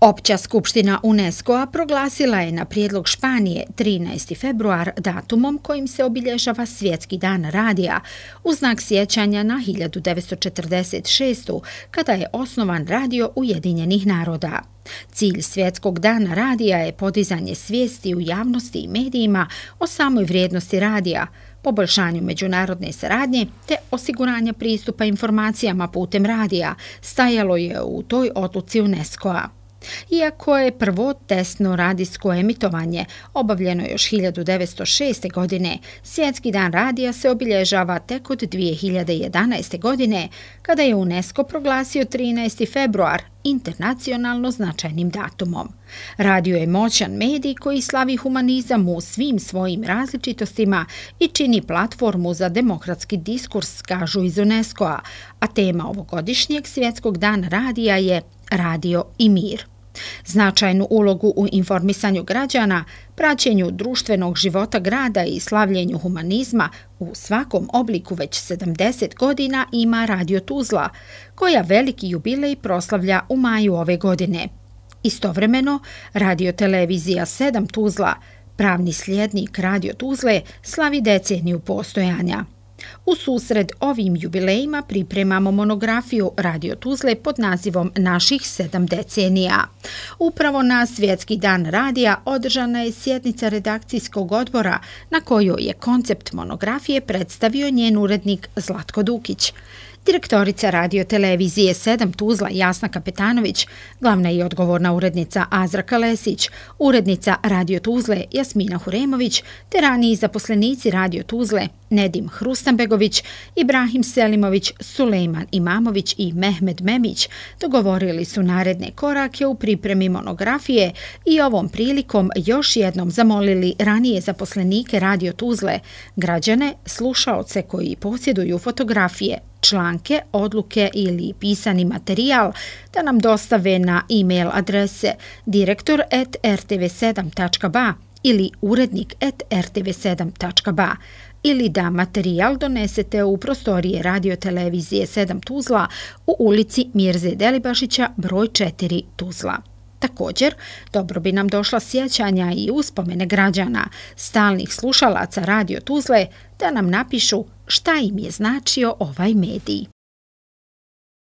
Opća skupština UNESCO-a proglasila je na prijedlog Španije 13. februar datumom kojim se obilježava Svjetski dan radija u znak sjećanja na 1946. kada je osnovan Radio Ujedinjenih naroda. Cilj Svjetskog dana radija je podizanje svijesti u javnosti i medijima o samoj vrijednosti radija, poboljšanju međunarodne saradnje te osiguranja pristupa informacijama putem radija, stajalo je u toj odluci UNESCO-a. Iako je prvo testno radijsko emitovanje obavljeno još 1906. godine, Svjetski dan radija se obilježava tek od 2011. godine, kada je UNESCO proglasio 13. februar internacionalno značajnim datumom. Radio je moćan medij koji slavi humanizam u svim svojim različitostima i čini platformu za demokratski diskurs, kažu iz UNESCO-a, a tema ovogodišnjeg Svjetskog dana radija je Radio i mir. Značajnu ulogu u informisanju građana, praćenju društvenog života grada i slavljenju humanizma u svakom obliku već 70 godina ima Radio Tuzla, koja veliki jubilej proslavlja u maju ove godine. Istovremeno, Radio-televizija 7 Tuzla, pravni slijednik Radio Tuzle, slavi deceniju postojanja. U susret ovim jubilejima pripremamo monografiju Radio Tuzle pod nazivom Naših 7 decenija. Upravo na Svjetski dan radija održana je sjednica redakcijskog odbora na kojoj je koncept monografije predstavio njen urednik Zlatko Dukić. Direktorica Radio-televizije 7 Tuzla Jasna Kapetanović, glavna i odgovorna urednica Azra Kalesić, urednica Radio Tuzle Jasmina Huremović te raniji zaposlenici Radio Tuzle Nedim Hrustanbegović, Ibrahim Selimović, Sulejman Imamović i Mehmed Memić dogovorili su naredne korake u pripremi monografije i ovom prilikom još jednom zamolili ranije zaposlenike Radio Tuzle, građane, slušaoce koji posjeduju fotografije, članke, odluke ili pisani materijal da nam dostave na e-mail adrese direktor@rtv7.ba ili urednik@rtv7.ba ili da materijal donesete u prostorije Radio-televizije 7 Tuzla u ulici Mirze Delibašića broj 4 Tuzla. Također, dobro bi nam došla sjećanja i uspomene građana, stalnih slušalaca Radio Tuzle, da nam napišu šta im je značio ovaj medij.